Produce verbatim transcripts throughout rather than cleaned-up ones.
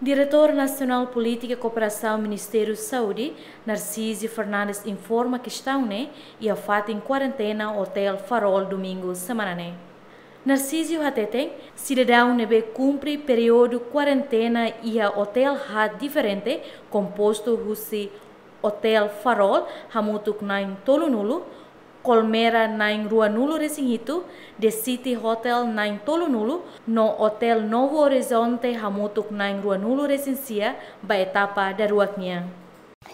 Diretór Nasionál Polítika Kooperasaun Ministériu Saúde, Narcísio Fernandes, informa kestaun ne'e iha fatin kuarentena Hotel Farol, domingu semana ne'e. Narcísio hateten, sidadaun ne'ebé kumpre períodu kuarentena iha hotel haat diferente, kompostu husi Hotel Farol, hamutuk na'in tolunulu, Colmera na'in ruanulu-resin-hitu, The City Hotel na'in tolunulu, no Hotel Novo Horizonte hamutuk na'in ruanulu-resin-sia, ba etapa daruak nian.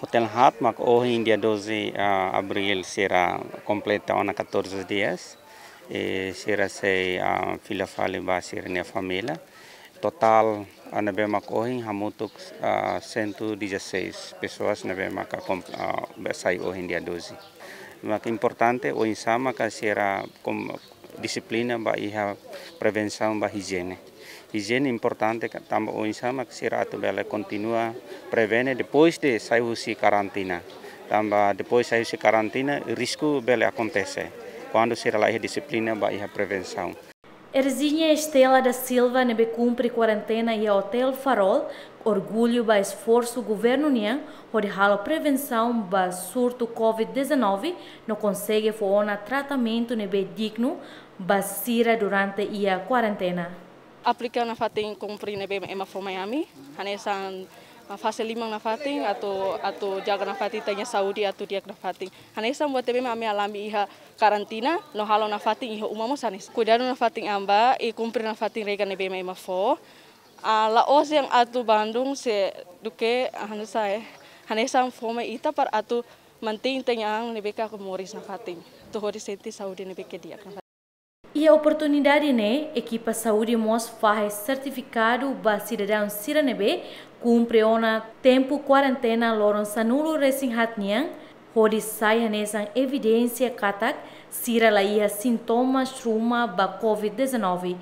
Hotel haat mak ohin dia doze, ah, Abril sira kompleta ona catorze dias. I sira sei, ah, fila fali ba sira-nia família. Totál, ah, ne'ebé mak ohin hamutuk, ah, cento e dezasseis pessoas ne'ebé maka kom-, ah, be sai ohin dia doze. Mak importante oinsá maka sira kom-, dixiplina ba iha prevensaun ba ijiene. Ijiene importante ka, tanba oinsá mak sira atu bele kontinua prevene depois de sai husi karantina. Tanba depois sai husi karantina, risku bele akontese kuandu sira la iha dixiplina ba iha prevensaun. Erzinia Estela da Silva, ne'ebé kumpre kuarentena iha Hotel Farol, orgullu ba esforsu governu nian hodi halo prevensaun ba surtu covid dezanove, no konsege fó ona tratamentu ne'ebé dignu ba sira durante iha kuarentena. Aplika nafatin kumpre ne'ebé ema fó mai ami, hanesan, ah, fase liman nafatin, atu, atu jaga nafatin ita-nia saúde, atu di'ak nafatin. Hanesan buat ne'ebé ami alami iha karantina, no halo nafatin iha uma mós hanesan. Kuidadu nafatin an ba, i kumpre nafatin regra ne'ebé ema fó. Ah, la'ós dehan atu bandung se duké, ah, hanesan, eh, hanesan fó mai ita para atu mantein ita-nia an ne'ebé ka moris nafatin. Atu hodi sente saúde ne'ebé ke di'ak nafatin. Iha oportunidade ne'e, ekipa saúde mós fahe sertifikadu ba sidadaun sira ne'ebé kumpre ona tempu kuarentena loron sanulu-resin-haat nian, hodi sai hanesan evidénsia katak sira la iha sintomas ruma ba covid dezanove.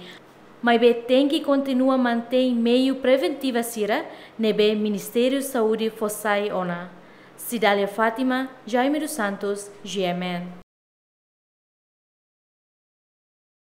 Maibé tenke kontinua mantein meiu preventiva sira ne'ebé Ministériu Saúde fó sai ona. Cidália Fátima, Jaime dos Santos, G M N.